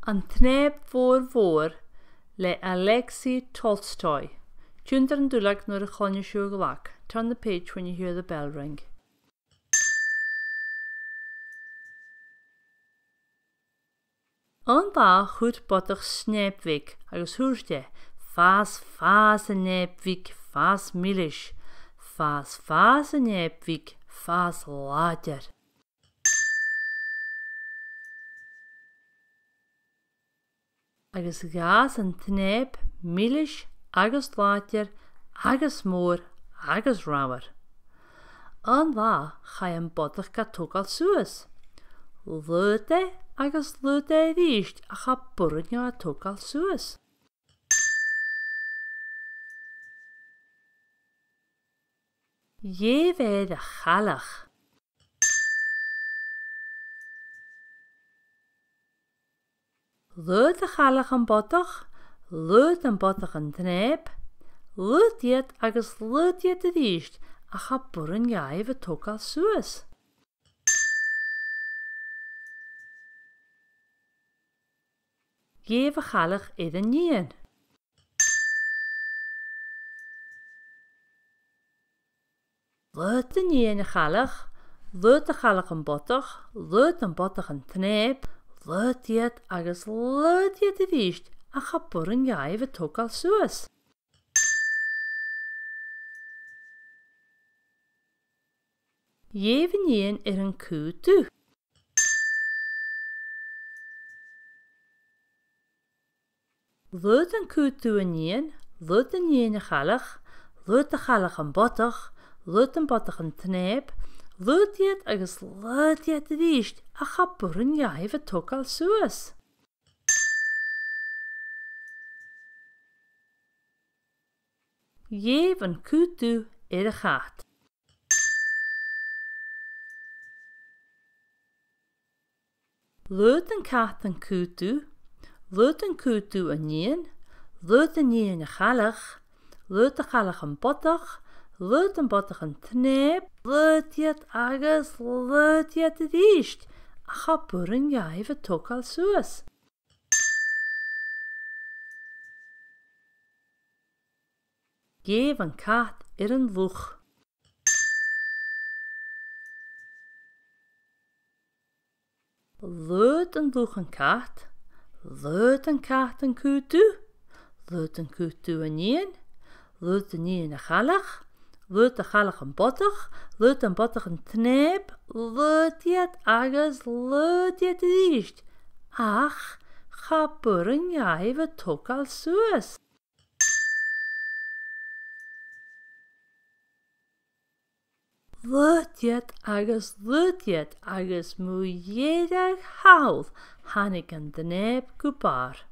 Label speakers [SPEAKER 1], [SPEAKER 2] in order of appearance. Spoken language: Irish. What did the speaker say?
[SPEAKER 1] An tSnaidhm Mhór Mhór le Alexei Tolstoy. Tiontar an dulag nuair a chluineas sibh an ghlac, Turn the page when you hear the bell ring. Aon lá chuir bodach snaidhm bhig agus dhúirt é, Fás, fás, a shnaidhm bhig, fás milis. Fás, fás, a shnaidhm bhig, fás láidir. Agus dh'fhás an tsnaidhm milis agus láidir agus mór agus ramhar. Aon lá chaith an bodach ga tógáil suas. Luigh é agus luigh é arís ach cha borradh a tógáil suas. Gheibh air a chailleach. Lúid a chailleach an bodach, lúid an bodach an tsnaidhm, lúid iad agus lúid iad arís ach cha borradh dháibh a tógáil suas. Gheibh a chailleach ar an níon. Lúid an níon a chailleach, lúid a chailleach an bodach, lúid an bodach an tsnaidhm, lúid iad agus lúid iad arís ach cha borradh dháibh a tógáil suas. Gheibh an níon ar an cú dubh. Lúid an cú dubh an níon, lúid an níon a chailleach, lúid a chailleach an bodach, lúid an bodach an tsnaidhm, lúid iad agus lúid iad arís ach cha borradh dháibh a tógáil suas. Gheibh an cú dubh ar a chat. Lúid an cat an cú dubh, lúid an cú dubh an níon, lúid an níon a chailleach, lúid a chailleach an bodach, lúid an bodach an tsnaidhm, lúid iad agus lúid iad arís ach cha borradh dháibh a tógáil suas. Gheibh an cat ar an luch. Lúid an luch an cat, lúid an cat an cú dubh, lúid an cú dubh an níon, lúid an níon a chailleach, lúid a chailleach an bodach, lúid an bodach an tsnaidhm, lúid iad agus lúid iad arís, ach cha borradh dháibh a tógáil suas. Lúid iad agus lúid iad agus mo dheireadh thall tháinig an tsnaidhm go barr.